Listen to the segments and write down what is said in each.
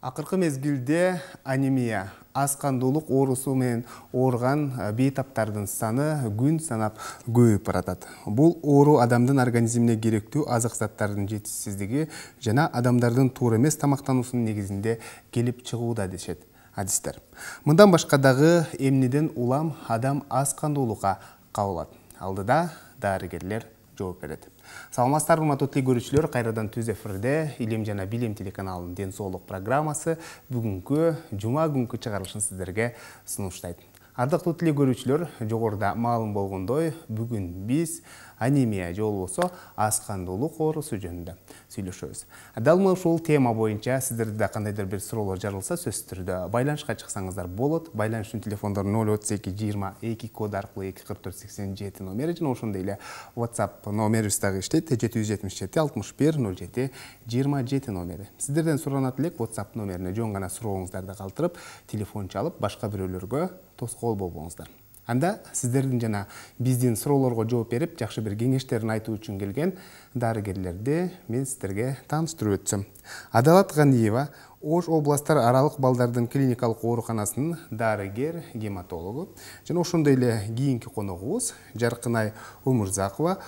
Акыркы мезгилде анемия, аз кандуулук оорусу менен ооруган бейтаптардын саны күн санап көбөйүп баратат. Бул оору адамдын организмине керектүү азык заттардын жетишсиздиги жана адамдардын туура эмес тамактануусунун негизинде келип чыгууда дешет адистер. Мындан башка дагы эмнеден улам адам аз кандуулукка кабылат. Алдыда дарыгерлер жооп берет. Саламатсыздар, урматтуу көрүүчүлөр, кайрадан түз эфирде Илим жана Билим телеканалынын ден соолук программасы бүгүнкү жума күнкү чыгарылышын сиздерге сунуштайт. Ардактуу көрүүчүлөр, жогоруда маалым болгондой, бүгүн биз анемия же болбосо аз кандуулук оорусу жөнүндө сүйлөшөбүз. Дал ушул тема боюнча сиздерде кандайдыр бир суроолор жарылса, сөзсүз түрдө байланышка чыксаңыздар болот. Байланыш үчүн телефондор 032 22 код аркылуу 24487 номери жана ошондой эле WhatsApp номерибиз дагы иштейт. 777 61 07 27 номери. Сиздерден суранат элек WhatsApp номерине жөн гана сурооңуздарды калтырып, телефон чалып, башка бирөөлөргө тоскоол болбоңуздар. Анда сиздердин жана биздин суроолорго жооп берип, жакшы бир кеңештерин айтуу үчүн келген дарыгерлерди мен сиздерге тааныштырып өтсөм. Адалат Ганиева Ош областтар аралык балдардын клиникалык ооруканасынын дарыгер-гематологу жана ошондой эле кийинки коногубуз Жаркынай Өмүрзакова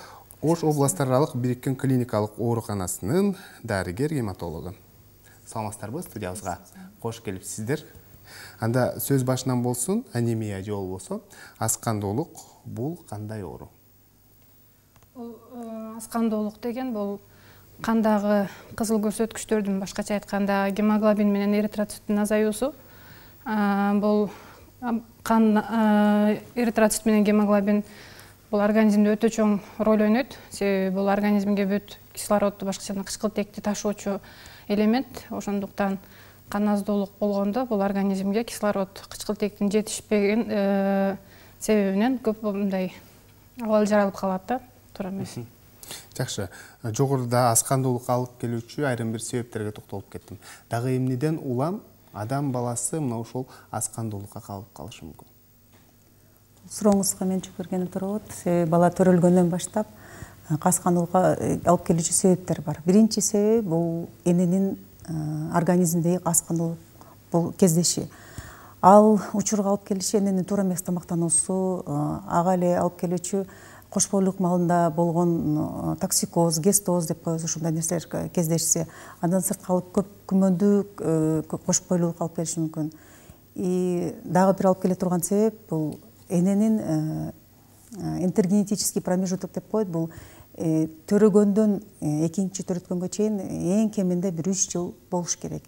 Ош областтар аралык бириккен клиникалык ооруканасынын дарыгер-гематологу. Саламатсыздарбы, студиябызга кош келипсиздер. Анда сөз башынан болсун, анемия же болбосо аз кандуулук бул кандай оору? Аз кандуулук деген бул кандагы кызыл көрсөткүчтөрдүн, башкача айтканда гемоглобин менен эритроциттин азаюусу. Бул кан эритроцит менен гемоглобин бул организмде өтө чоң роль ойнойт. Себеби бул организмге бүт кислородду, башкача кычкылтекти ташуучу элемент. Ошондуктан кан аздуулук болгондо бул организмге кислород, кычкылтектин жетишпеген себебинен көп мындай абал жаралып калат да, туура эмес. Жакшы. Жогоруда аз кандуулукка алып келүүчү айрым бир себептерге токтолуп кеттим. Дагы эмнеден улам адам баласы мына ушул аз кандуулукка кабылып калышы мүмкүн? Сурооңузга мен жооп бергени туура болот. Себеби бала төрөлгөндөн баштап аз кандуулукка алып келүүчү себептер бар. Биринчи себеп бул эненин организмдеги аз кандуулук бул кездеши. Ал учурга алып келиши эненин туура эмес тамактануусу, ага эле алып келүүчү кош бойлук маалында болгон токсикоз, гестоз деп коебуз, ушундай нерселер кездешсе, андан сырткары көп күмөндүү кош бойлуулук алып келиши мүмкүн. Дагы бир алып келе турган себеп бул эненин интергенетический промежуток деп коет. Бул төрөгөндөн экинчи төрөткөнгө чейин эң кеминде бир 3 жыл болуш керек.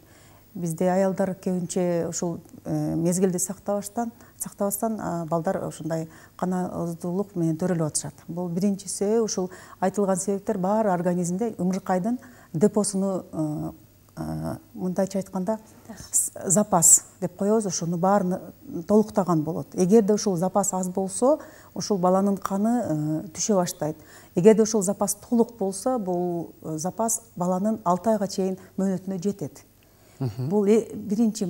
Бизде аялдар көбүнчө ушул мезгилди сактабастан балдар ушундай кан аздуулук менен төрөлүп атышат. Бул биринчи себеп. Ушул айтылган себептер баары организмде ымыркайдын депосуну, мындайча айтканда запас деп коебуз, ошону баарын толуктаган болот. Эгерде ушул запас аз болсо, ушул баланын каны түшө баштайт. Эгерде ушул запас толук болсо, бул запас баланын 6 айга чейин мөөнөтүнө жетет. Бул биринчи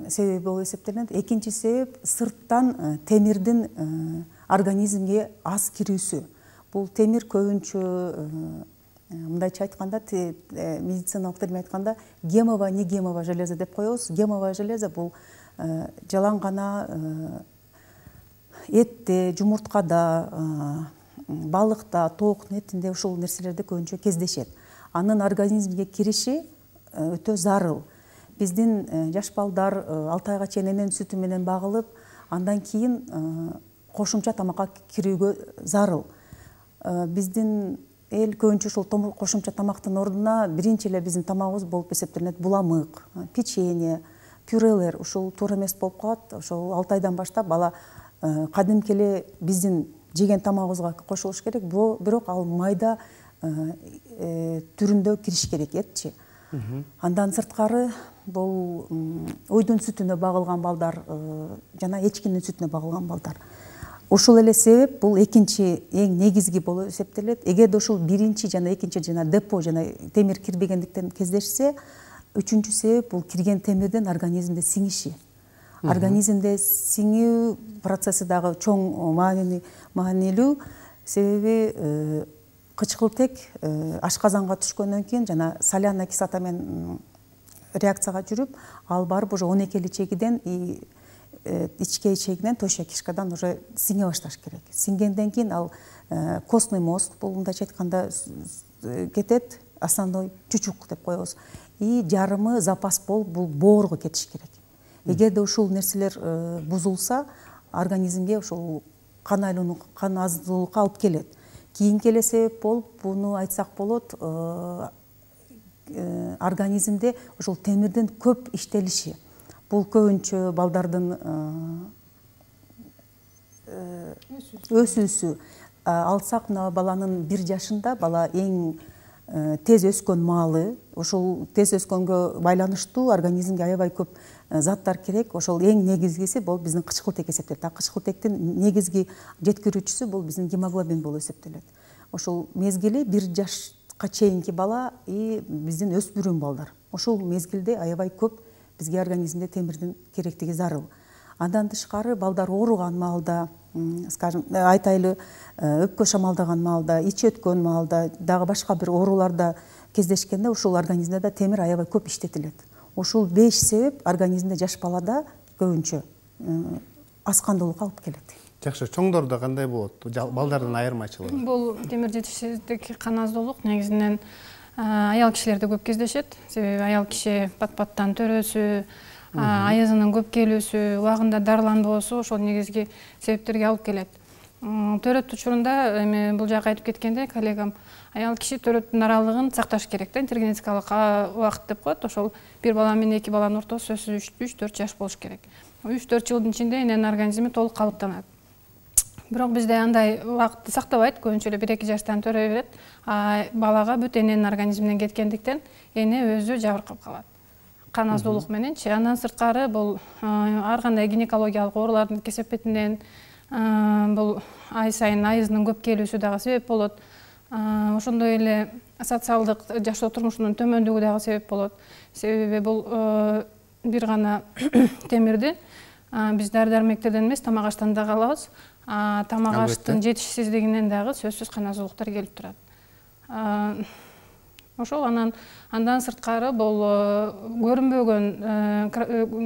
себеп болуп эсептелинет. Экинчи себеп сырттан темирдин организмге аз кирүүсү. Бул темир көбүнчө мындайча айтканда, медициналык термин айтканда, гемовое, негемовое железо деп коебуз. Гемовое железо бул жалаң гана этте, жумурткада, балыкта, тооктун этинде ушул нерселерде көбүнчө кездешет. Анын организмге кириши өтө зарыл. Биздин жаш балдар 6 айга чейин эненин сүтү менен багылып, андан кийин кошумча тамакка кирүүгө зарыл. Биздин эл көбүнчө ушул кошумча тамактын ордуна биринчи эле биздин тамагыбыз болуп эсептелинет буламык, печенье, пюрелер. Ушул туура эмес болуп калат. Ошол 6 айдан баштап бала кадимки эле биздин жеген тамагыбызга кошулуш керек, бирок ал майда түрүндө кириш керек, этчи. Андан сырткары бул уйдун сүтүнө багылган балдар жана эчкинин сүтүнө багылган балдар. Ушул эле себеп бул экинчи эң негизги болуп эсептелет. Эгерде ушул биринчи жана экинчи жана депо жана темир кирбегендиктен кездешсе, үчүнчү себеп бул кирген темирдин организмде сиңиши. Организмде сиңүү процесси дагы чоң маанилүү. Себеби кычкылтек ашказанга түшкөндөн кийин жана соляный кислота менен реакцияга жүрүп, ал барып уже 12 ичегиден ичке ичегинен тощая кишкадан уже сиңе башташ керек. Сиңгенден кийин ал костный мозг, бул мындайча айтканда кетет, основной чучук деп коебуз. И жарымы запас болуп бул боорго кетиш керек. Эгерде ушул нерселер бузулса, организмге ушул кан айлануу, кан аздуулукка алып келет. Кийинки эле себеп болуп, буну айтсак болот, организмде ушул темирдин көп иштелиши. Бул көбүнчө балдардын өсүүсү. Алсак мына баланын 1 жашында бала эң тез өскөн маалы, ошол тез өскөнгө байланыштуу организмге аябай көп заттар керек. Ошол эң негизгиси бул биздин кычкылтек эсептелет. Кычкылтектин негизги жеткирүүчүсү бул биздин гемоглобин болуп эсептелет. Ошол мезгили 1 жашка чейинки бала и биздин өспүрүм балдар. Ошол мезгилде аябай көп бизге организмде темирдин керектиги зарыл. Андан тышкары балдар ооруган маалда, скажем, айтайлы өпкө шамалдаган маалда, ич өткөн маалда, дагы башка бир ооруларда кездешкенде ушул организмде да темир аябай көп иштетилет. Ушул 5 себеп организмде жаш балада көбүнчө аскандуулукка алып келет. Жакшы, чоңдордо кандай болот? Балдардын айырмачылыгы? Бул темир жетишсиздик, кан аздуулук негизинен аял кишилерде көп кездешет. Себеби аял киши пат-паттан төрөсү, аязынын көп келүүсү, убагында дарыланбоосу ошол негизги себептерге алып келет. Төрөт учурунда эми бул жакка айтып кеткенде коллегам, аял киши төрөттүн аралыгын сакташ керек да, интергенетикалык убакыт деп коет. Ошол 1 бала менен 2 баланын ортосу сөзсүз 3-4 жаш болуш керек. 3-4 жылдын ичинде эненин организми толук калыптанат. Бирок бизде андай убакытты сактабайт, көбүнчө эле 1-2 жаштан төрөй берет. Балага бүт эненин организминен кеткендиктен эне өзү жабыркап калат. Кан аздуулук мененчи. Андан сырткары бул ар кандай гинекологиялык оорулардын кесепетинен, бул ай сайын айызынын көп келүүсү дагы себеп болот. Ошондой эле социалдык жашоо турмушунун төмөндүгү дагы себеп болот. Себеби бул бир гана темирди биз дары-дармектерден эмес, тамак аштан дагы алабыз. Тамак аштын жетишсиздигинен дагы сөзсүз кан аздуулуктар келип турат. Ошол андан сырткары бул көрүнбөгөн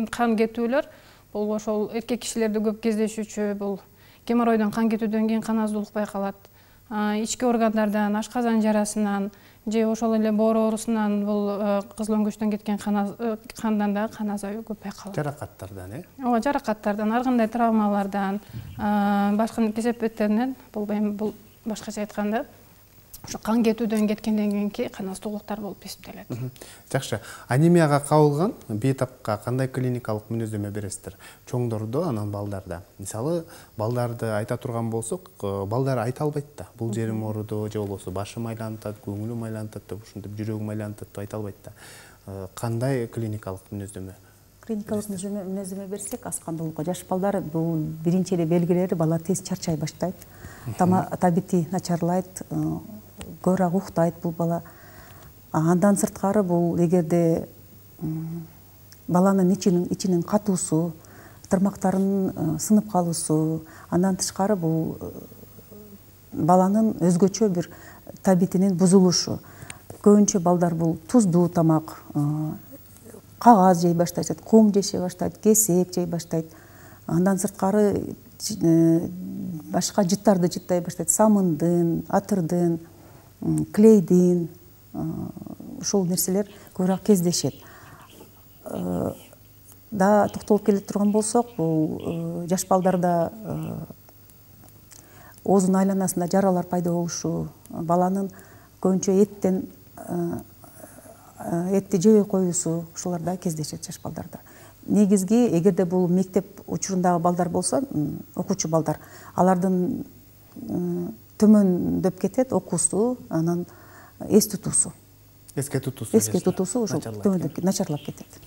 кан кетүүлөр, бул ошол эркек кишилерде көп кездешүүчү, бул геморройдон кан кетүүдөн кийин кан аздуулук байкалат. Ички органдардан, ашказан жарасынан же ошол эле боор оорусунан бул кызыл өңгөчтөн кеткен кандан дагы кан азаюу көп байкалат. Жаракаттардан, Ооба, жаракаттардан, ар кандай травмалардан, башка кесепеттеринен, бул башкача айтканда ошо кан кетүүдөн кеткенден кийинки кан аздуулуктар болуп эсептелет. Жакшы, анемияга кабылган бейтапка кандай клиникалык мүнөздөмө бересиздер? Чоңдордо, анан балдарда. Мисалы, балдарды айта турган болсок, балдар айта албайт да. Бул жерим ооруду, же болбосо башым айлантат, көңүлүм айлантат деп, ушинтип жүрөгүм айлантат деп айта албайт да. Кандай клиникалык мүнөздөмө? Клиникалык мүнөздөмө берсек, аскандуулукка жаш балдар бул биринчи эле белгилери, бала тез чарчай баштайт, табити начарлайт, көбүрөөк уктайт бул бала. Андан сырткары бул эгерде баланын ичинин катуусу, тырмактарынын сынып калуусу, андан тышкары бул баланын өзгөчө бир табитинин бузулушу. Көбүнчө балдар бул туздуу тамак, кагаз жей баштайт, кум жеше баштайт, кесек жей баштайт. Андан сырткары башка жыттарды жыттай баштайт, самындын, атырдын, клейдин, ушул нерселер көбүрөөк кездешет. Да токтолуп келе турган болсок, бул жаш балдарда оозунун айланасында жаралар пайда болушу, баланын көбүнчө этти жебей коюусу, ушулар да кездешет жаш балдарда. Негизги, эгерде бул мектеп учурундагы балдар болсо, окуучу балдар, алардын төмөндөп кетет окуусу, анан эске тутуусу ошол төмөндөп начарлап кетет.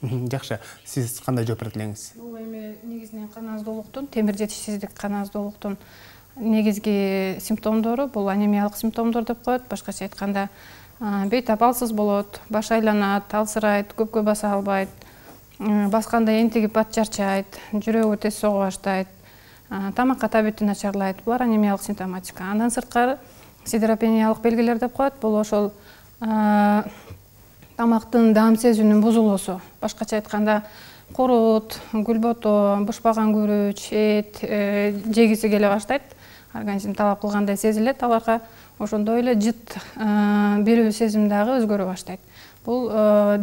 Жакшы, сиз кандай жооп берет элеңиз? Бул эми негизинен кан аздуулуктун, темир жетишсиздик кан аздуулуктун негизги симптомдору бул анемиялык симптомдор деп коет. Башкача айтканда, бейтап алсыз болот, баш айланат, алсырайт, көпкө баса албайт, басканда энтигип бат чарчайт, жүрөгү тез сого баштайт, тамакка табити начарлайт. Булар анемиялык симптоматика. Андан сырткары сидеропениялык белгилер деп коет. Бул ошол тамактын даам сезүүнүн бузулуусу. Башкача айтканда курут, гүлбото, бышпаган күрүч, эт жегиси келе баштайт. Организм талап кылгандай сезилет аларга. Ошондой эле жыт берүү сезим дагы өзгөрө баштайт. Бул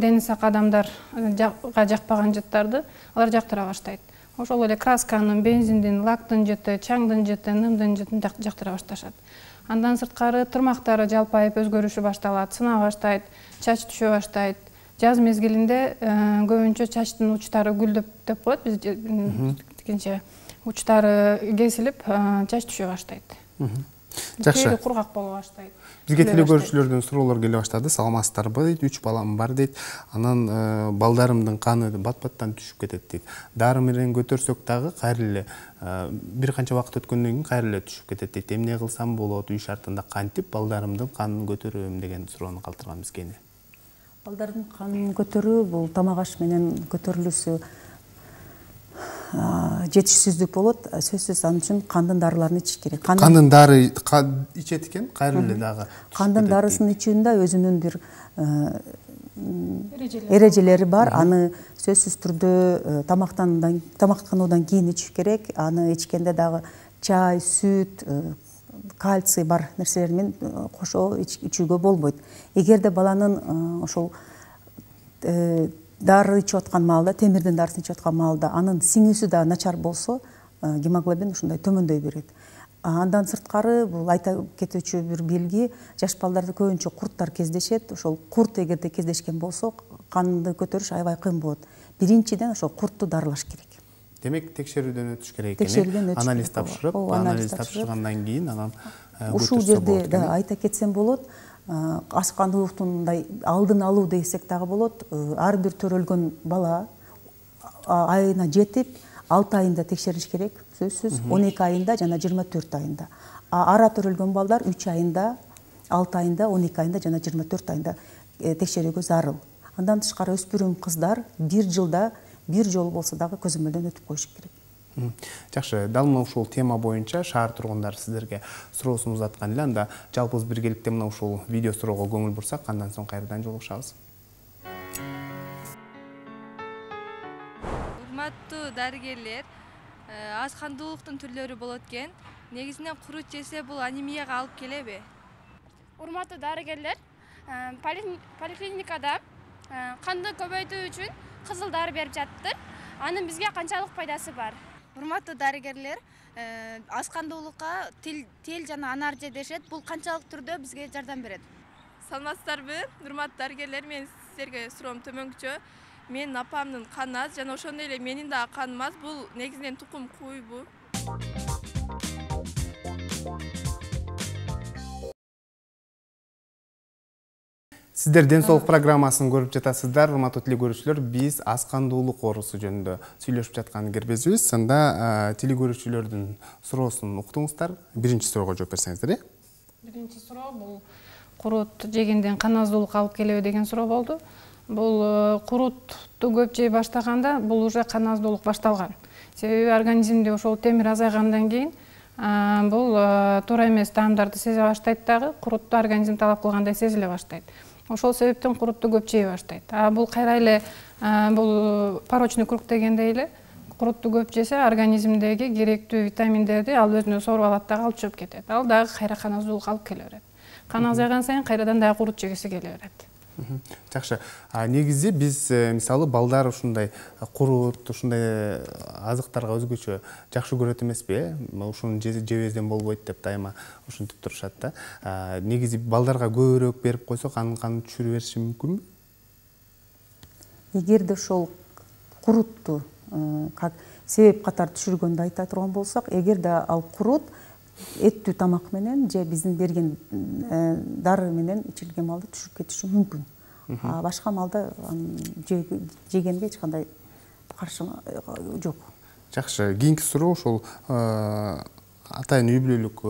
дени сак адамдарга жакпаган жыттарды алар жактыра баштайт. Ошол эле красканын, бензиндин, лактын жыты, чаңдын жыты, нымдын жытын жактыра башташат. Андан сырткары тырмактары жалпайып өзгөрүшү башталат, сына баштайт, чач түшө баштайт. Жаз мезгилинде көбүнчө чачтын учтары гүлдөп деп коет, биз тикинче учтары кесилип, чач түшө баштайт. Жакшы. Тери кургак боло баштайт. Бизге телегөрүүчүлөрдөн суроолор келе баштады. Саламатсыздарбы дейт, 3 балам бар дейт. Анан балдарымдын каны бат-баттан түшүп кетет дейт. Дары менен көтөрсөк дагы кайра эле бир канча убакыт өткөндөн кийин кайра эле түшүп кетет дейт. Эмне кылсам болот, үй шартында кантип балдарымдын канын көтөрөм деген суроону калтырган бизге. Балдардын канын көтөрүү бул тамак аш менен көтөрүлүүсү жетишсиздик болот. Сөзсүз ал үчүн кандын дарыларын ичиш керек. Кандын дары ичет экен, кайра эле дагы. Кандын дарысын ичүүнүн да өзүнүн бир эрежелери бар. Аны сөзсүз түрдө тамактануудан кийин ичиш керек. Аны ичкенде дагы чай, сүт, кальций бар нерселер менен кошо ичүүгө болбойт. Эгерде баланын ошол дары ичип аткан маалда, темирдин дарысын ичип аткан маалда анын сиңүүсү да начар болсо, гемоглобин ушундай төмөндөй берет. Андан сырткары бул айта кетүүчү бир белги, жаш балдарда көбүнчө курттар кездешет. Ошол курт эгерде кездешкен болсо, канды көтөрүш аябай кыйын болот. Биринчиден ошол куртту дарылаш керек. Демек, текшерүүдөн өтүш керек экен. Анализ тапшырып, анализ тапшыргандан кийин анан ушул жерде да айта кетсем болот. Аскандуулуктун мындай алдын алуу десек дагы болот. Ар бир төрөлгөн бала айына жетип, 6 айында текшериш керек, сөзсүз. 12 айында жана 24 айында. Ара төрөлгөн балдар 3 айында, 6 айында, 12 айында жана 24 айында текшерүүгө зарыл. Андан тышкары өспүрүм кыздар 1 жылда 1 жолу болсо дагы көзөмөлдөн өтүп коюш керек. Жакшы, дал мына ушул тема боюнча шаар тургундары сиздерге суроосун узаткан эле. Анда жалпыбыз биргеликте мына ушул видео суроого көңүл бурсак, андан соң кайрадан жолугушабыз. Урматтуу дарыгерлер, аскандуулуктун түрлөрү болот экен. Негизинен курут жесе бул анемияга алып келеби? Урматтуу дарыгерлер, поликлиникада канды көбөйтүү үчүн кызыл дары берип жатыптыр. Анын бизге канчалык пайдасы бар? Урматтуу дарыгерлер, аскандуулукка тел жана анар же дешет. Бул канчалык түрдө бизге жардам берет? Саламатсыздарбы? Урматтуу дарыгерлер, мен сиздерге суроом төмөнкүчө. Менин апамдын каны аз жана ошондой эле менин дагы каным аз. Бул негизинен тукум куйбу. Сиздер ден соолук программасын көрүп жатасыздар. Урматтуу телекөрүүчүлөр, биз аскандуулук оорусу жөнүндө сүйлөшүп жаткан кирбезбиз. Анда телекөрүүчүлөрдүн суроосун уктуңуздар. Биринчи суроого жооп берсеңиздер. Биринчи суроо бул курут жегенден кан аздуулук алып келеби деген суроо болду. Бул курутту көп жей баштаганда бул уже кан аздуулук башталган. Себеби организмде ошол темир азайгандан кийин бул туура эмес таамдарды сезе баштайт дагы, курутту организм талап кылгандай сезиле баштайт. Ошол себептен курутту көп жей баштайт. Бул кайра эле бул порочный круг дегендей эле курутту көп жесе организмдеги керектүү витаминдерди ал өзүнө соруп алат дагы, алып чыгып кетет. Ал дагы кайра кан аздуулук алып келе берет. Кан азайган сайын кайрадан дагы курут жегиси келе берет. Жакшы. Негизи биз мисалы балдар ушундай курут, ушундай азыктарга өзгөчө жакшы көрөт эмеспи? Ушуну жебесем болбойт деп дайыма ушинтип турушат да. Негизи балдарга көбүрөөк берип койсок, анын канын түшүрүп бериши мүмкүнбү? Эгерде ошол курутту как себеп катары түшүргөндү айта турган болсок, эгерде ал курут эттүү тамак менен же биздин берген дары менен ичилген малда түшүп кетиши мүмкүн. Башка малда жегенге эч кандай каршылык жок. Жакшы, кийинки суроо ушул атайын үй бүлөлүк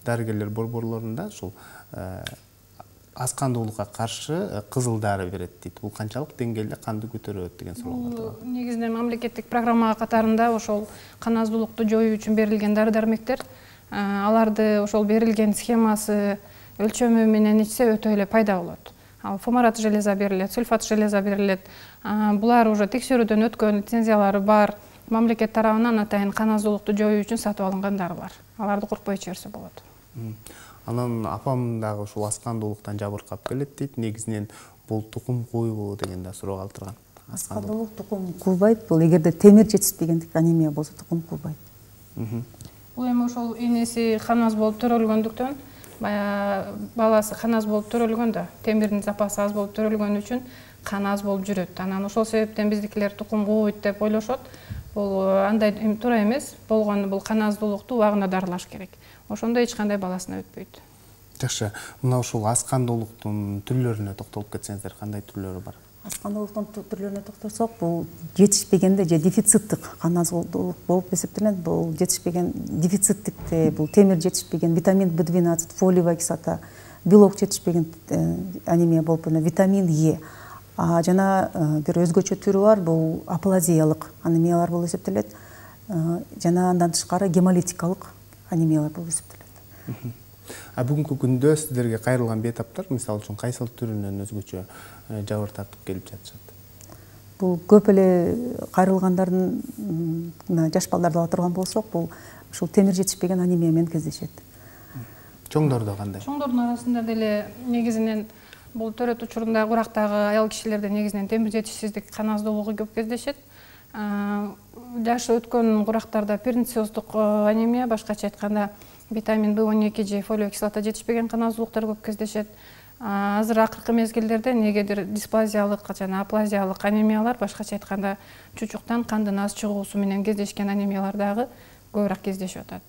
дарыгерлер борборлорунда ушул аскандуулукка каршы кызыл дары берет дейт. Бул канчалык деңгээлде канды көтөрөт деген суроо. Негизинен мамлекеттик программа катарында ошол кан аздуулукту жоюу үчүн берилген дары-дармектер, аларды ошол берилген схемасы, өлчөмү менен ичсе өтө эле пайда болот. фумарат железа берилет, сульфат железа берилет. Булар уже текшерүүдөн өткөн, лицензиялары бар, мамлекет тарабынан атайын кан аздуулукту жоюу үчүн сатып алынган дарылар. Аларды куркпой ичерсе болот. Анан апам дагы ушул аз кандуулуктан жабыркап келет дейт. Негизинен бул тукум куйбу деген да суроо калтырган. Аз кандуулук тукум куйбайт. Бул эгерде темир жетишпегендик анемия болсо тукум куйбайт. Бул эми ошол энеси кан аз болуп төрөлгөндүктөн, баягы баласы кан аз болуп төрөлгөн да, темирдин запасы аз болуп төрөлгөн үчүн кан аз болуп жүрөт. Анан ошол себептен биздикилер тукум кууйт деп ойлошот. Бул андай туура эмес. Болгону бул кан аздуулукту убагында дарылаш керек. Ошондо эч кандай баласына өтпөйт. Жакшы. Мына ушул аз кандуулуктун түрлөрүнө токтолуп кетсеңиздер, кандай түрлөрү бар? Аз кандуулуктун түрлөрүнө токтолсок, бул жетишпегенде же дефициттик кан аздуулук болуп эсептелет. Бул жетишпеген дефициттикте бул темир жетишпеген, витамин B12, фолиевая кислота, белок жетишпеген анемия болуп витамин Е. Жана бир өзгөчө түрү бар, бул аплазиялык анемиялар болуп эсептелет. Жана андан тышкары гемолитикалык анемиялар болуп эсептелет. Бүгүнкү күндө сиздерге кайрылган бейтаптар, мисалы үчүн кайсыл түрүнөн өзгөчө жабыр тартып келип жатышат? Бул көп эле кайрылгандардын жаш балдарды ала турган болсок, бул ушул темир жетишпеген анемия менен кездешет. Чоңдордо кандай? Чоңдордун арасында деле негизинен бул төрөт учурунда курактагы аял кишилерде негизинен темир жетишсиздик, кан аздуулугу көп кездешет. Жашы өткөн курактарда пернициоздук анемия, башкача айтканда витамин B12 же фолиевая кислота жетишпеген кан аздуулуктар көп кездешет. Азыр акыркы мезгилдерде негедир дисплазиялык жана аплазиялык анемиялар, башкача айтканда чучуктан кандын аз чыгуусу менен кездешкен анемиялар дагы көбүрөөк кездешип атат.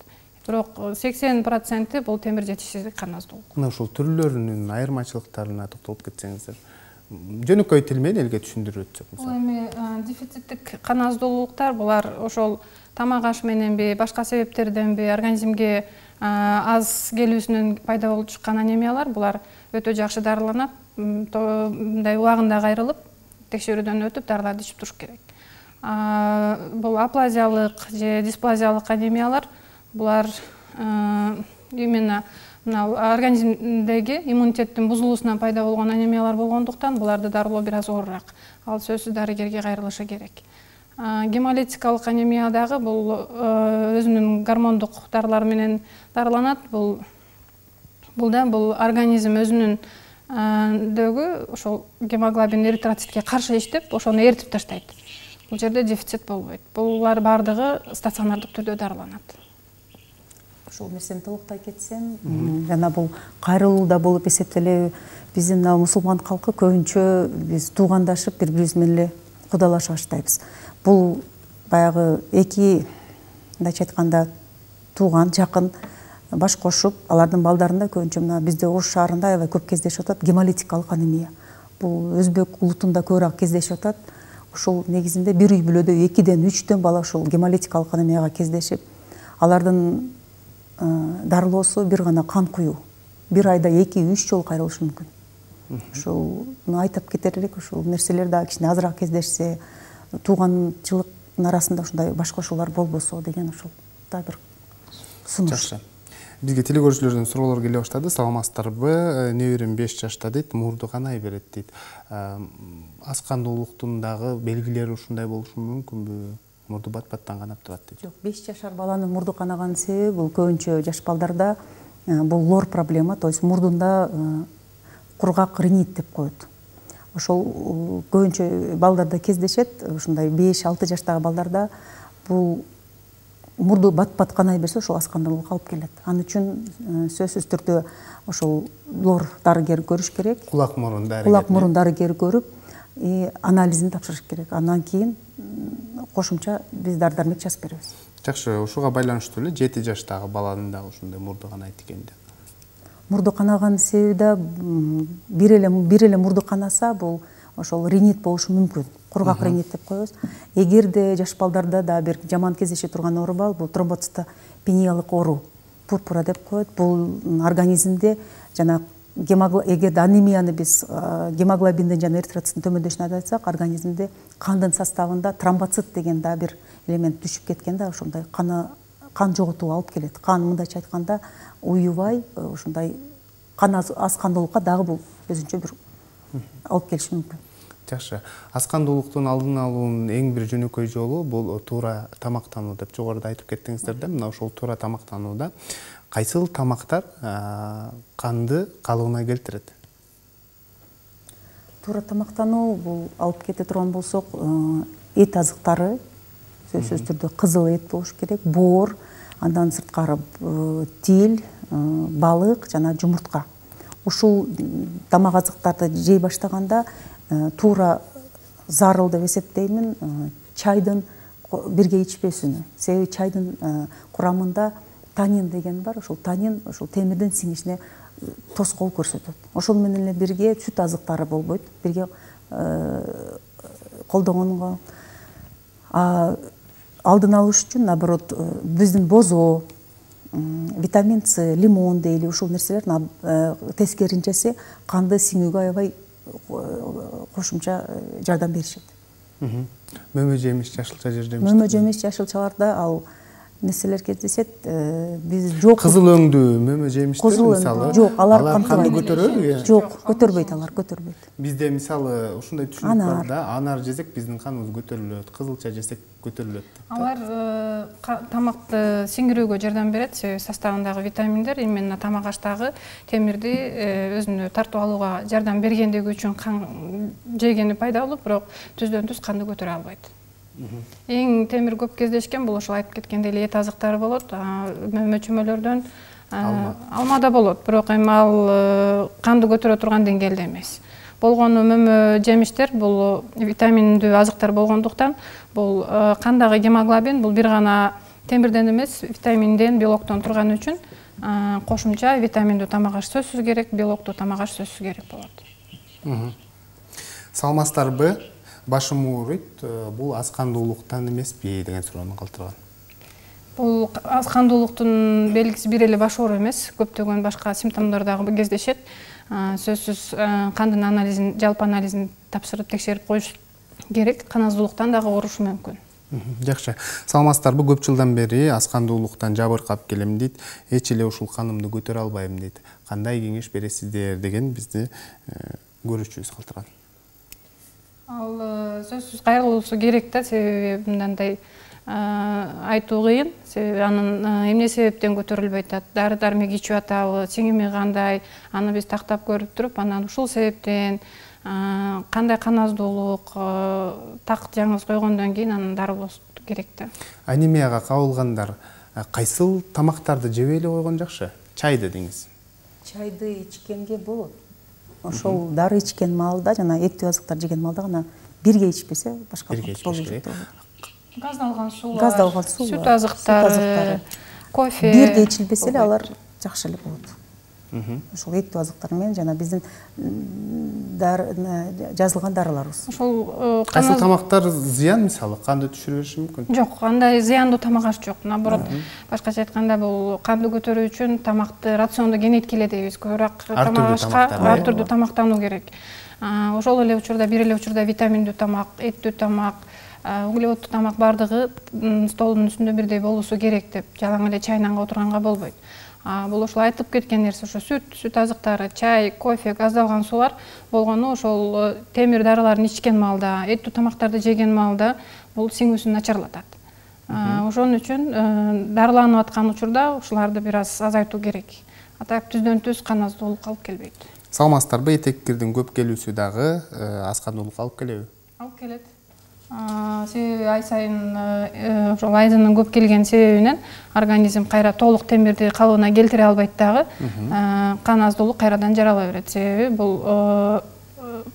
Бирок 80% бул темир жетишсиздик, кан аздуулук. Мына ушул түрлөрүнүн айырмачылыктарына токтолуп кетсеңиздер. Жөнөкөй тил менен элге түшүндүрүп өтсөк. Бул эми дефициттик кан аздуулуктар, булар ошол тамак аш мененби, башка себептерденби организмге аз келүүсүнөн пайда болуп чыккан анемиялар. Булар өтө жакшы дарыланат. Мындай убагында кайрылып, текшерүүдөн өтүп, дарыларды ичип туруш керек. Бул аплазиялык же дисплазиялык анемиялар, булар именно организмдеги иммунитеттин бузулуусунан пайда болгон анемиялар болгондуктан буларды дарылоо бир аз оорураак. Ал сөзсүз дарыгерге кайрылышы керек. Гемолитикалык анемия дагы бул өзүнүн гормондук дарылары менен дарыланат. Бул организм өзүнүн дөгү ошол гемоглобин эритроцитке каршы иштеп, ошону эритип таштайт. Бул жерде дефицит болбойт. Булар бардыгы стационардык түрдө дарыланат. Ушул нерсени толуктай кетсем, жана бул кайрылууда болуп эсептелеби, биздин мусулман калкы көбүнчө биз туугандашып, бири-бирибиз менен эле кудалашып баштайбыз. Бул баягы эки, мындайча айтканда, тууган, жакын баш кошуп, алардын балдарында көбүнчө мына бизде Ош шаарында аябай көп кездешип атат гемолитикалык анемия. Бул өзбек улутунда көбүрөөк кездешип атат. Ушул негизинде бир үй бүлөдө 2-ден 3 бала ушул гемолитикалык анемияга кездешип, алардын дарылоосу бир гана кан куюу. Бир айда 2-3 жолу кайрылышы мүмкүн. Ушул айтып кетер элек, ушул нерселер да кичине азыраак кездешсе, тууганчылыктын арасында ушундай баш кошуулар болбосо деген ушул да бир сунуш. Жакшы. Бизге телекөрүүчүлөрдөн суроолор келе баштады. Саламатсыздарбы? Неберем 5 жашта дейт, мурду канай берет дейт. Аз кандуулуктун дагы белгилери ушундай болушу мүмкүнбү? Мурду бат-баттан канап турат дейт. Жок, 5 жашар баланын мурду канаганын себеби бул көбүнчө жаш балдарда бул лор проблема, то есть мурдунда кургак ринит деп коет. Ошол көбүнчө балдарда кездешет. Ушундай 5-6 жаштагы балдарда бул мурду бат-бат канай берсе, ошол аз кандуулукка алып келет. Ал үчүн сөзсүз түрдө ошол лор дарыгер көрүш керек. Кулак мурун дарыгер. Кулак мурун дарыгер көрүп, анализин тапшырыш керек. Андан кийин кошумча биз дары-дармек жазып беребиз. Жакшы, ушуга байланыштуу эле 7 жаштагы баланын дагы ушундай мурду канайт экенди. Мурду канаганын себеби да бир эле мурду канаса, бул ошол ринит болушу мүмкүн. Кургак ринит деп коебуз. Эгерде жаш балдарда да бир жаман кездеше турган оору бар, бул тромбоцитопениялык оору, пурпура деп коет. Бул организмде жана эгерде анемияны биз гемоглобиндин жана эритроциттин төмөндөшүнө айтсак, организмде кандын составында тромбоцит деген да бир элемент түшүп кеткен да, ошондой кан жоготууга алып келет. Кан мындайча айтканда уюбай, ушундай аз кандуулукка дагы бул өзүнчө бир алып келиши мүмкүн. Жакшы. Аскандуулуктун алдын алуунун эң бир жөнөкөй жолу бул туура тамактануу деп жогоруда айтып кеттиңиздер да. Мына ошол туура тамактанууда кайсыл тамактар канды калыбына келтирет? Туура тамактануу бул алып кете турган болсок, эт азыктары сөзсүз түрдө кызыл эт болуш керек, боор, андан сырткары тил, балык жана жумуртка. Ушул тамак азыктарды жей баштаганда туура зарыл деп эсептеймин чайдын бирге ичпесүнү. Себеби чайдын курамында танин деген бар. Ошол танин ошол темирдин сиңишине тоскоол көрсөтөт. Ошол менен эле бирге сүт азыктары болбойт. Бирге колдонгонго алдын алыш үчүн наоборот биздин бозоо, витамин С, лимон дейли ушул нерселер тескеринчеси канды сиңүүгө аябай кошумча жардам беришет. Мөмө жемиш, жашылча жемиш. Мөмө жемиш, жашылчаларда ал нерселер кездешет. Биз жок. Кызыл өңдүү мөмө жемиштер мисалы. Жок, алар канды көтөрөбү? Жок, көтөрбөйт, алар көтөрбөйт. Бизде мисалы ушундай түшүнүк бар да, анар жесек биздин каныбыз көтөрүлөт, кызылча жесек көтөрүлөт. Алар тамакты сиңирүүгө жардам берет, себеби составындагы витаминдер именно тамак аштагы темирди өзүнө тартып алууга жардам бергендиги үчүн кан жегени пайда болуп, бирок түздөн түз канды көтөрө албайт. Эң темир көп кездешкен бул ошол айтып кеткендей эле эт азыктары болот. Мөмө чөмөлөрдөн алма да болот, бирок эми ал канды көтөрө турган деңгээлде эмес. Болгону мөмө жемиштер бул витаминдүү азыктар болгондуктан бул кандагы гемоглобин бул бир гана темирден эмес, витаминден, белоктон турган үчүн кошумча витаминдүү тамак аш сөзсүз керек, белоктуу тамак аш сөзсүз керек болот. Салмастарбы? Башым ооруйт, бул аскандуулуктан эмеспи деген суроону калтырган. Бул аскандуулуктун белгиси бир эле баш оору эмес, көптөгөн башка симптомдор дагы кездешет. Сөзсүз кандын анализин, жалпы анализин тапшырып текшерип коюш керек. Кан аздуулуктан дагы оорушу мүмкүн. Жакшы. Саламатсыздарбы? Көп жылдан бери аскандуулуктан жабыркап келем дейт. Эч эле ушул канымды көтөрө албайм дейт. Кандай кеңеш бересиздер деген бизди көрүүчүбүз калтырган. Ал сөзсүз кайрылуусу керек да, себеби мындай айтуу кыйын. Себеби анын эмне себептен көтөрүлбөйт атат, дары-дармек ичип атабы, сиңими кандай, аны биз тактап көрүп туруп, анан ушул себептен кандай кан аздуулук, так жаңыз койгондон кийин анын дарылоосу керек да. Анемияга кабылгандар кайсыл тамактарды жебей эле койгон жакшы? Чайды деңиз. Чайды ичкенге болот. Ошол дары ичкен маалда жана эттүү азыктар жеген маалда гана бирге ичпесе башка болбойт. Газдалган суу, сүт азыктары, кофе бирге ичилбесе эле алар жакшы эле болот. Ошол эттүү азыктар менен жана биздин жазылган дарыларыбыз. Ошол кайсыл тамактар зыян, мисалы канды түшүрө бериши мүмкүн? Жок, андай зыяндуу тамак аш жок. Наоборот, башкача айтканда бул канды көтөрүү үчүн тамакты рациондо кеңейткиле дейбиз. Көбүрөөк тамак ашка ар түрдүү тамактануу керек. Ошол эле учурда бир эле учурда витаминдүү тамак, эттүү тамак, углеводдуу тамак бардыгы столдун үстүндө бирдей болуусу керек деп жалаң эле чайнанга отурганга болбойт. Бул ошол айтып кеткен нерсе, ошо сүт азыктары, чай, кофе, газдалган суулар болгону ошол темир дарыларын ичкен маалда, эттүү тамактарды жеген маалда бул сиңүүсүн начарлатат. Ошон үчүн дарыланып аткан учурда ушуларды бир аз азайтуу керек. Атак түздөн түз кан аздуулук алып келбейт. Саламатсыздарбы? Этеккирдин көп келүүсү дагы аскандуулукка алып келеби? Алып келет. Себеби ай сайын ошол айдынын көп келген себебинен организм кайра толук темирди калыбына келтире албайт дагы, кан аздуулук кайрадан жарала берет. Себеби бул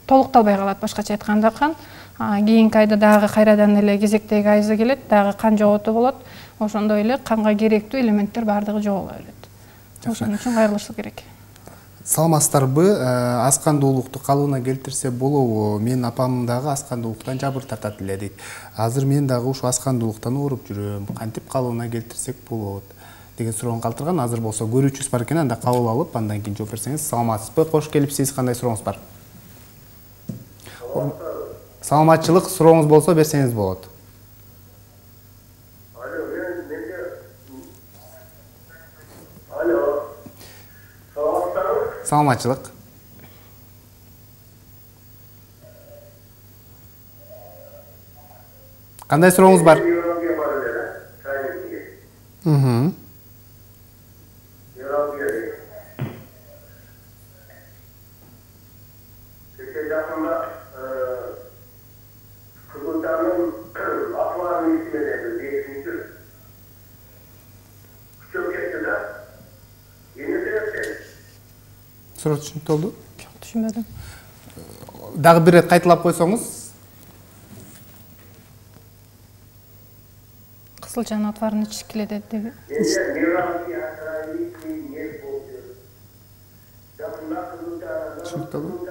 толукталбай калат, башкача айтканда кан. Кийинки айда дагы кайрадан эле кезектеги айзы келет, дагы кан жоготуу болот. Ошондой эле канга керектүү элементтер бардыгы жоголо берет. Ошон үчүн кайрылышы керек. Саламатсыздарбы? Аскандуулукту калыбына келтирсе болобу? Мен апам дагы аскандуулуктан жабыр тартат эле дейт. Азыр мен дагы ушу аскандуулуктан ооруп жүрөм. Кантип калыбына келтирсек болот деген суроону калтырган. Азыр болсо көрүүчүбүз бар экен, анда кабыл алып, андан кийин жооп берсеңиз. Саламатсызбы? Кош келипсиз. Кандай сурооңуз бар? Саламатчылык, сурооңуз болсо берсеңиз болот. Саламатчылык. Кандай сурооңуз бар? Суроо түшүнүктүү болду? Жок, түшүнбөдүм. Дагы бир ирет кайталап койсоңуз. Кызылчанын отварын ичиш келет деди. Түшүнүктүү болду.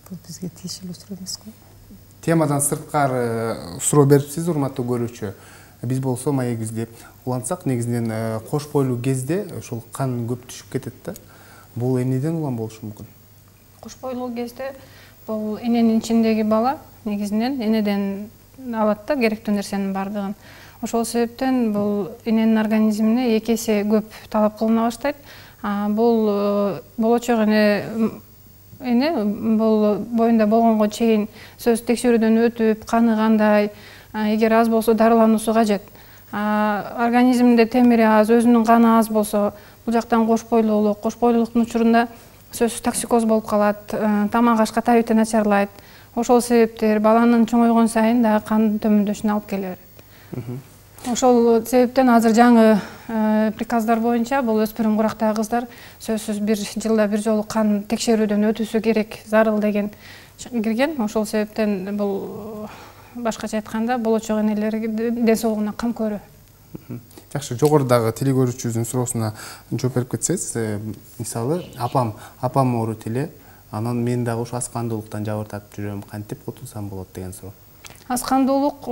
Бул бизге тиешелүү суроо эмес-го. Темадан сырткары суроо берипсиз, урматтуу көрүүчү. Биз болсо маегибизди улантсак, негизинен кош бойлуу кезде ошол кан көп түшүп кетет да. Бул эмнеден улам болушу мүмкүн? Кош бойлуу кезде бул эненин ичиндеги бала негизинен энеден алат да керектүү нерсенин бардыгын. Ошол себептен бул эненин организмине 2 эсе көп талап кылына баштайт. Бул болочок эне бул боюнда болгонго чейин сөзсүз текшерүүдөн өтүп, каны кандай, эгер аз болсо дарылануусу кажет. Организминде темири аз, өзүнүн каны аз болсо, бул жактан кош бойлуулуктун учурунда сөзсүз токсикоз болуп калат, тамак ашка табити начарлайт. Ошол себептер баланын чоңойгон сайын дагы кан төмөндөшүнө алып келе берет. Ошол себептен азыр жаңы приказдар боюнча бул өспүрүм курактагы кыздар сөзсүз бир жылда бир жолу кан текшерүүдөн өтүүсү керек, зарыл деген кирген. Ошол себептен бул башкача айтканда болочок энелердин ден соолугуна кам көрүү. Жакшы, жогорудагы теле көрүүчүбүздүн суроосуна жооп берип кетсеңиз, мисалы апам оорут эле, анан мен дагы ошо аз кандуулуктан жабыртатып жүрөм, кантип кутулсам болот деген суроо. Аз кандуулук,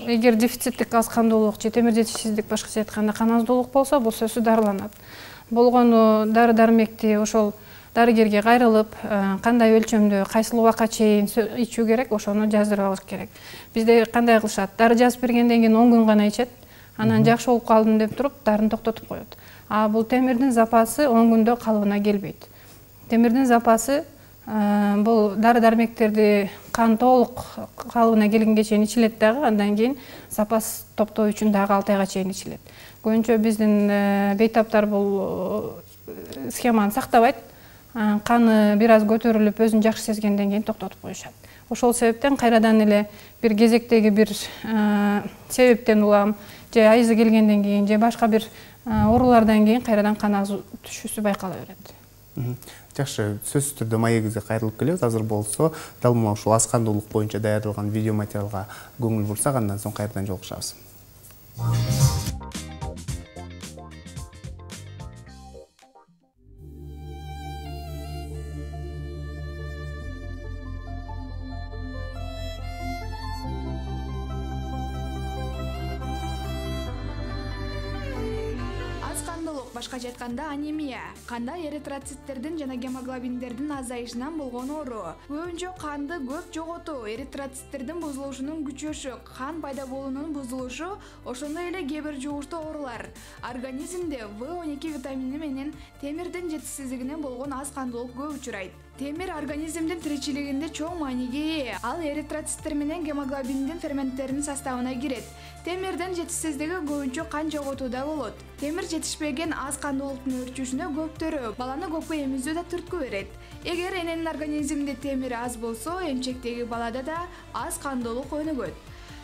эгер дефициттик аз кандуулук же темир жетишсиздик, башкача айтканда кан аздуулук болсо, бул сөзсүз дарыланат. Болгону дары дармекти ошол дарыгерге кайрылып, кандай өлчөмдө, кайсыл убакка чейин ичүү керек, ошону жаздырып алыш керек. Бизде кандай кылышат? Дары жазып бергенден кийин 10 күн гана ичет, анан жакшы болуп калдым деп туруп, дарыны токтотуп коет. Бул темирдин запасы 10 күндө калыбына келбейт. Темирдин запасы бул дары дармектерди кан толук калыбына келгенге чейин ичилет дагы, андан кийин запас топтоо үчүн дагы 6 айга чейин ичилет. Көбүнчө биздин бейтаптар бул схеманы сактабайт. Каны бир аз көтөрүлүп, өзүн жакшы сезгенден кийин токтотуп коюшат. Ошол себептен кайрадан эле бир кезектеги бир себептен улам, же айызы келгенден кийин, же башка бир оорулардан кийин кайрадан кан аз түшүүсү байкала берет. Жакшы, сөзсүз түрдө маегибизге кайрылып келебиз. Азыр болсо дал мына ушул аз кандуулук боюнча даярдалган видео материалга көңүл бурсак, андан соң кайрадан жолугушабыз. Башкача айтканда анемия, канда эритроциттердин жана гемоглобиндердин азайышынан болгон оору. Көбүнчө канды көп жоготуу, эритроциттердин бузулушунун күчөшү, кан пайда болуунун бузулушу, ошондой эле кээ бир жугуштуу оорулар. Организмде В12 витамини менен темирдин жетишсиздигинен болгон аз кандуулук көп учурайт. Темир организмдин тиричилигинде чоң мааниге ээ. Ал эритроциттер менен гемоглобиндин ферменттеринин составына кирет. Темирдин жетишсиздиги көбүнчө кан жоготууда болот. Темир жетишпеген аз кандуулуктун өрчүшүнө көптөрү баланы көпкө эмизүү да түрткү берет. Эгер эненин организминде темир аз болсо, эмчектеги балада да аз кандуулук өнүгөт.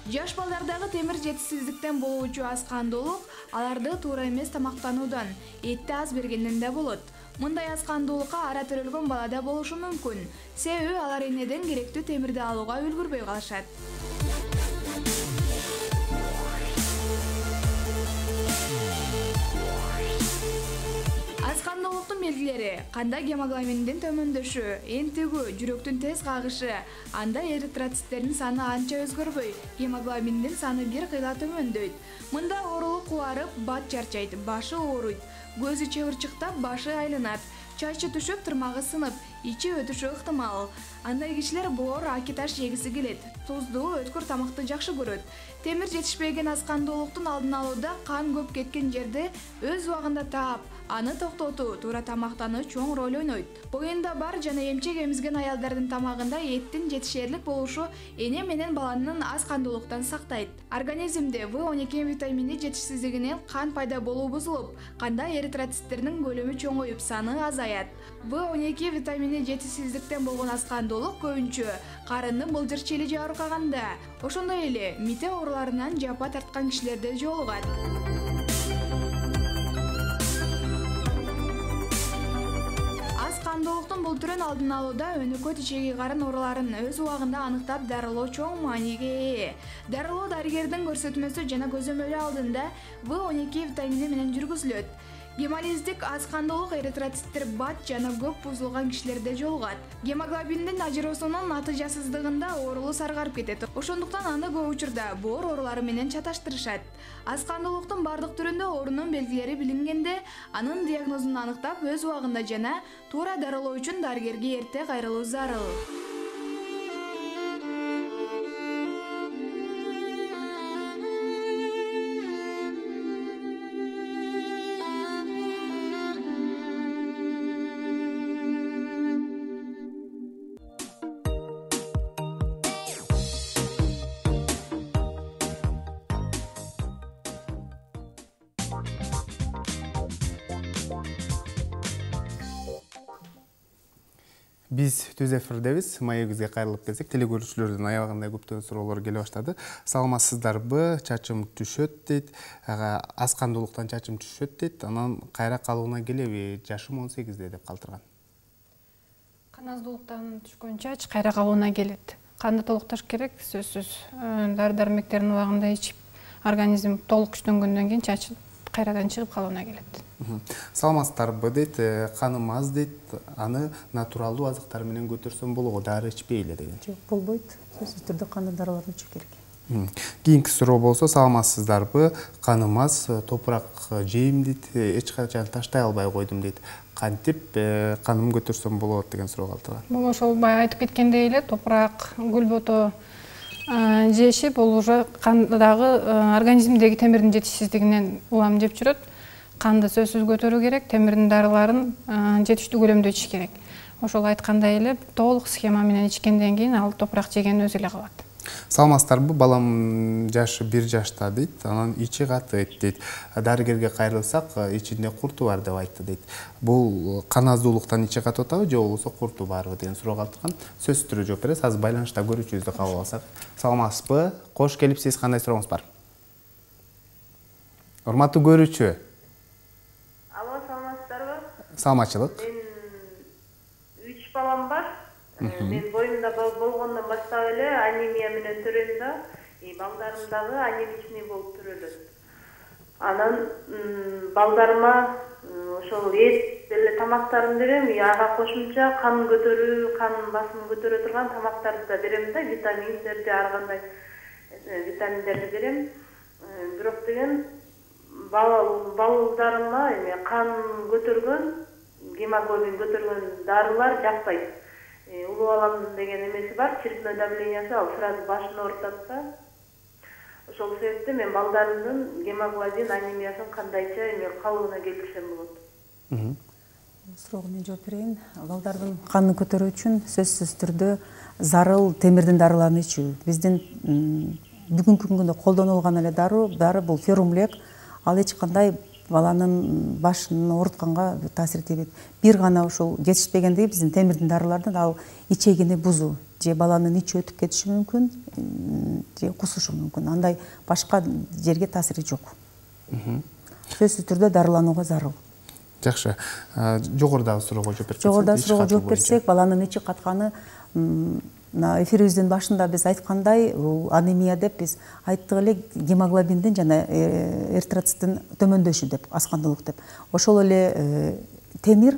Жаш балдардагы темир жетишсиздиктен болуучу аз кандуулук аларды туура эмес тамактануудан, этти аз бергенден да болот. Мындай аз кандуулукка ара төрөлгөн балада болушу мүмкүн. Себеби алар энеден керектүү темирди алууга үлгүрбөй калышат. Аз кандуулуктун белгилери: канда гемоглобиндин төмөндөшү, энтигүү, жүрөктүн тез кагышы, анда эритроциттердин саны анча өзгөрбөй, гемоглобиндин саны бир кыйла төмөндөйт. Мында оорулук кубарып, бат чарчайт, башы ооруйт, көзү чыбырчыктап, башы айланат, чачы түшүп, тырмагы сынып, ичи өтүшү ыктымал. Андай кишилер боор, аки таш жегиси келет, туздуу, өткүр тамакты жакшы көрөт. Темир жетишпеген аз кандуулуктун алдын алууда кан көп кеткен жерди өз убагында таап, Аны токтотуу, туура тамактануу чоң роль ойнойт. Боюнда бар жана эмчек эмизген аялдардын тамагында эттин жетишерлик болушу эне менен баланын аз кандуулуктан сактайт. Организмде В12 витамини жетишсиздигинен кан пайда болуу бузулуп, канда эритроциттердин көлөмү чоңоюп, саны азаят. В12 витамини жетишсиздиктен болгон аз кандуулук көбүнчө карынны былжыр челиже аарыкканда, ошондой эле мите ооруларынан жапа тарткан кишилерде жолугат. Кандуулуктун бул түрүн алдын алууда өнөкөт ичеги карын ооруларын өз убагында аныктап дарылоо чоң мааниге ээ. Дарылоо дарыгердин көрсөтмөсү жана көзөмөлү алдында В12 витамини менен жүргүзүлөт. Гемолиздик аз кандуулук эритроциттер бат жана көп бузулган кишилерде жолугат. Гемоглобиндин ажыроосунун натыйжасыздыгында оорулуу саргарып кетет. Ошондуктан аны көп учурда боор оорулары менен чаташтырышат. Аз кандуулуктун бардык түрүндө оорунун белгилери билингенде, анын диагнозун аныктап өз убагында жана туура дарылоо үчүн дарыгерге эрте кайрылуу зарыл. Биз түз эфирдебиз. Маегибизге кайрылып келсек, телекөрүүчүлөрдүн аябагында көптөгөн суроолор келе баштады. Саламатсыздарбы? Чачым түшөт дейт. Аз кандуулуктан чачым түшөт дейт. Анан кайра калууна келеби? Жашым 18де деп калтырган. Кан аздуулуктан түшкөн чач кайра калууна келет. Канды толукташ керек, сөзсүз. Дары-дармектердин убагында ичип, организм толук күчтөнгөндөн кийин чач кайрадан чыгып калууна келет. Саламатсыздарбы дейт, каным аз дейт, аны натуралдуу азыктар менен көтөрсөм болобу, дары ичпейли деген. Жок, болбойт. Сөзсүз түрдө кандын дарыларын ичүү керек. Кийинки суроо болсо, саламатсыздарбы, каным аз, топурак жейм дейт, эч качан таштай албай койдум дейт. Кантип каным көтөрсөм болот деген суроо калтырган. Бул ошол бая айтып кеткендей эле, топурак, гүлбото жеши бул уже кандагы организмдеги темирдин жетишсиздигинен улам жеп жүрөт. Канды сөзсүз көтөрүү керек, темирдин дарыларын жетиштүү көлөмдө ичиш керек. Ошол айткандай эле толук схема менен ичкенден кийин ал топурак жеген өзү эле калат. Саламатсыздарбы, балам жашы 1 жашта дейт, анан ичи катыйт дейт. Дарыгерге кайрылсак, ичинде курту бар деп айтты дейт. Бул кан аздуулуктан ичи катып атабы, же болбосо курту барбы деген суроо калтырган. Сөз түрү жооп бересиз. Азыр байланышта көрүүчүбүздү кабыл алсак. Саламатсызбы? Кош келипсиз, кандай сурооңуз бар? Урматтуу көрүүчү. Алло, саламатсыздарбы? Саламатчылык. Мен 3 балам бар. Мен боюмда болгондон баштап эле анемия менен төрөйм да, балдарым дагы анемичный болуп төрөлөт. Анан балдарыма ошол эт эле тамактарын берем, ага кошумча кан көтөрүү, кан басымын көтөрө турган тамактарды да берем да, витаминдерди, ар кандай витаминдерди берем. Бирок деген балдарыма кан көтөргөн, гемоглобин көтөргөн дарылар жакпайт. Улуу баламдын деген эмеси бар, черепной давлениясы, ал сразу башын оорутат да. Ошол себептен мен балдарымдын гемоглобин анемиясын кандайча калыбына келтирсем болот? Суроого мен жооп берейин. Балдардын канын көтөрүү үчүн сөзсүз түрдө зарыл темирдин дарыларын ичүү. Биздин бүгүнкү күндө колдонулган эле дары бул ферумлек. Ал эч кандай баланын башын оорутканга таасир этпейт. Бир гана ошол жетишпегендиги биздин темирдин дарылардан ал ичегини бузуу, же баланын ичи өтүп кетиши мүмкүн, же кусушу мүмкүн. Андай башка жерге таасири жок. Сөзсүз түрдө дарыланууга зарыл. Жакшы. Жогорудагы суроого жооп берсек. Жогорудагы суроого жооп берсек, баланын ичи катканы эфирибиздин башында биз айткандай, анемия деп биз айттык эле, гемоглобиндин жана эритроциттин төмөндөшү деп, аз кандуулук деп. Ошол эле темир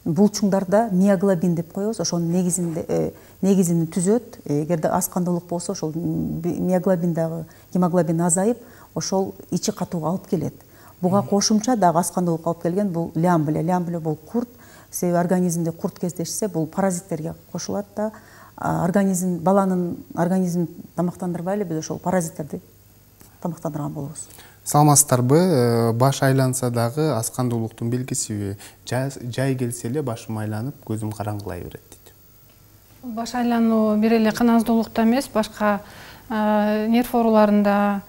булчуңдарда миоглобин деп коебуз, ошонун негизин түзөт. Эгерде аз кандуулук болсо, ошол миоглобиндагы гемоглобин азайып, ошол ичи катууга алып келет. Буга кошумча дагы аз кандуулук алып келген бул лямбле. Лямбле бул курт. Себеби организмде курт кездешсе, бул паразиттерге кошулат да. Баланын организмин тамактандырбай эле биз ошол паразиттерди тамактандырган болобуз. Саламатсыздарбы? Баш айланса дагы аз кандуулуктун белгисиби? Жай келсе эле башым айланып, көзүм караңгылай берет дейт. Баш айлануу бир эле кан аздуулукта эмес, башка нерв ооруларында,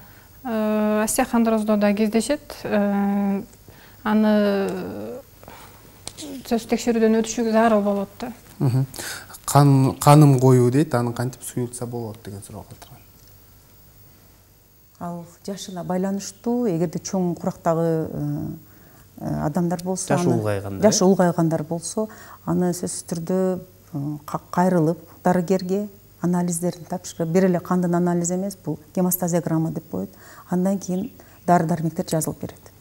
остеохондроздо да кездешет. Аны сөз текшерүүдөн өтүшү зарыл болот да. Каным коюу дейт, аны кантип суюлтса болот деген суроо калтырган. Ал жашына байланыштуу, эгерде чоң курактагы адамдар болсо, жашы улгайгандар болсо, аны сөзсүз түрдө кайрылып дарыгерге анализдерин тапшырып, бир эле кандын анализи эмес, бул гемостазиограмма деп коет. Андан кийин дары-дармектер жазылып берет.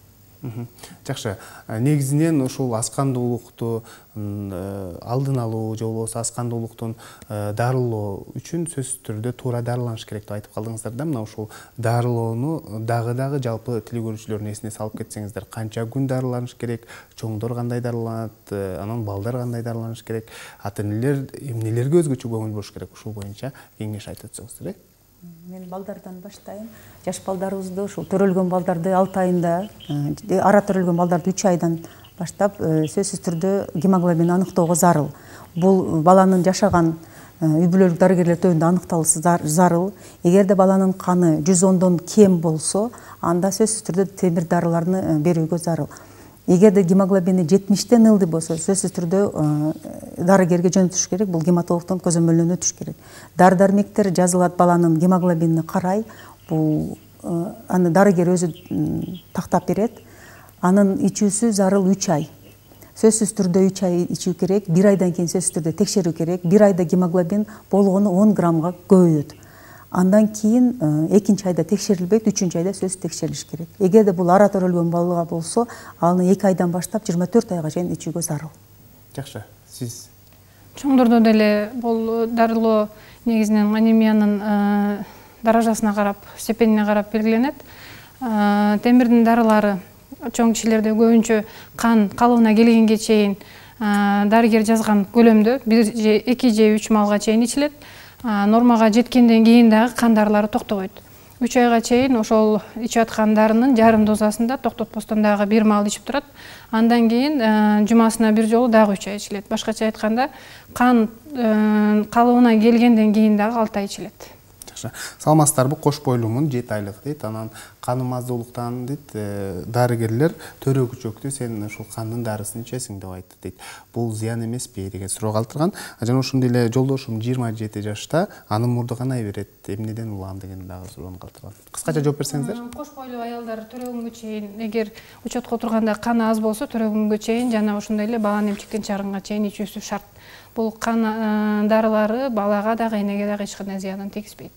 Жакшы. Негизинен ушул аз кандуулукту алдын алуу же болбосо аз кандуулуктун дарылоо үчүн сөзсүз түрдө туура дарыланыш керек деп айтып калдыңыздар да. Мына ушул дарылоону дагы жалпы тил көрүүчүлөрдүн эсине салып кетсеңиздер, канча күн дарыланыш керек, чоңдор кандай дарыланат, анан балдар кандай дарыланыш керек, ата-энелер эмнелерге өзгөчө көңүл буруш керек, ушул боюнча кеңеш айтып өтсөңүздөр. Мен балдардан баштайм. Жаш балдарыбызды, ушул төрөлгөн балдарды 6 айында, ара төрөлгөн балдарды 3 айдан баштап сөзсүз түрдө гемоглобин аныктоого зарыл. Бул баланын жашаган үй бүлөлүк дарыгерлер тобунда аныкталышы зарыл. Эгерде баланын каны 110дон кем болсо, анда сөзсүз түрдө темир дарыларды берүүгө зарыл. Эгерде гемоглобини 70тен ылдый болсо, сөзсүз түрдө дарыгерге жөнөтүш керек, бул гематологдон көзөмөлдөн өтүш керек. Дары-дармектер жазылат, баланын гемоглобинин карай, бул аны дарыгер өзү тактап берет. Анын ичүүсү зарыл 3 ай. Сөзсүз түрдө 3 ай ичүү керек, 1 айдан кийин сөзсүз түрдө текшерүү керек. 1 айда гемоглобин болгону 10 граммга көбөйөт. Андан кийин 2-нчи айда текшерилбейт, 3-нчү айда сөзсүз текшерилиш керек. Эгерде бул ара төрөлгөн бала болсо, аны 2 айдан баштап 24 айга чейин ичүүгө зарыл. Жакшы. Сиз? Чоңдордо деле бул дарылоо негизинен анемиянын даражасына карап, степенине карап белгиленет. Темирдин дарылары чоң кишилерде көбүнчө кан калыбына келгенге чейин дарыгер жазган көлөмдө 1 же 2 же 3 малга чейин ичилет. Нормага жеткенден кийин дагы кан дарылары токтобойт. 3 айга чейин ошол ичип аткан дарынын жарым дозасында токтотпостон дагы 1 мал ичип турат. Андан кийин жумасына бир жолу дагы 3 ай ичилет. Башкача айтканда, кан калыбына келгенден кийин дагы 6 ай ичилет. Саламатсыздарбы? Кош бойлумун 7 айлык дейт. Анан каным аздуулуктан дейт, дарыгерлер төрөгүчөктү сен ушул кандын дарысын ичесиң деп айтты дейт. Бул зыян эмеспи деген суроо калтырган. Жана ошондой эле жолдошум 27 жашта, анын мурду канай берет, эмнеден улам деген дагы суроону калтырган. Кыскача жооп берсеңиздер. Кош бойлуу аялдар төрөгөнгө чейин, эгер учетко отурганда каны аз болсо, төрөгөнгө чейин жана ошондой эле баланы эмчектен чыгарганга чейин ичүүсү шарт. Бул кан дарылары балага дагы энеге дагы эч кандай зыянын тийгизбейт.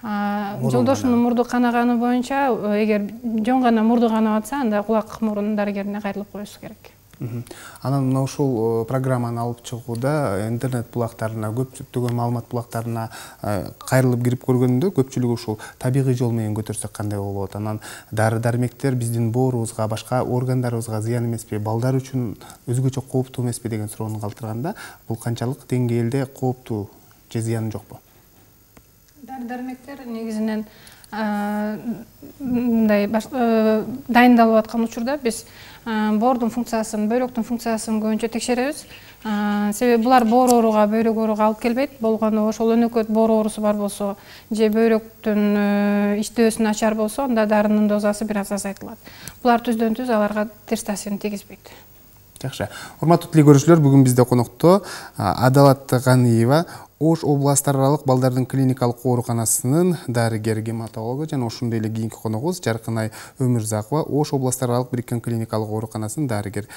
Жолдошумдун мурду канаганы боюнча, эгер жөн гана мурду канап атса, анда кулак мурун дарыгерине кайрылып коюшу керек. Анан мына ушул программаны алып чыгууда интернет булактарына, көптөгөн маалымат булактарына кайрылып кирип көргөндө көпчүлүгү ушул табигый жол менен көтөрсөк кандай болот? Анан дары-дармектер биздин боорубузга, башка органдарыбызга зыян эмеспи, балдар үчүн өзгөчө кооптуу эмеспи деген суроону калтырганда, бул канчалык деңгээлде кооптуу же зыяны жокпу? Дары-дармектер негизинен мындай дайындалып аткан учурда биз боордун функциясын, бөйрөктүн функциясын көбүнчө текшеребиз. Себеби булар боор ооруга, бөйрөк ооруга алып келбейт. Болгону ошол өнөкөт боор оорусу бар болсо же бөйрөктүн иштөөсү начар болсо, анда дарынын дозасы бир аз азайтылат. Булар түздөн түз аларга терс таасирин тийгизбейт. Жакшы. Урматтуу тил көрүүчүлөр, бүгүн бизде конокто Адалат Ганиева, Ош областар аралык балдардын клиникалык ооруканасынын дарыгер-гематологу жана ошондой эле кийинки коногубуз Жаркынай Өмүрзакова, Ош областар аралык бириккен клиникалык ооруканасынын дарыгер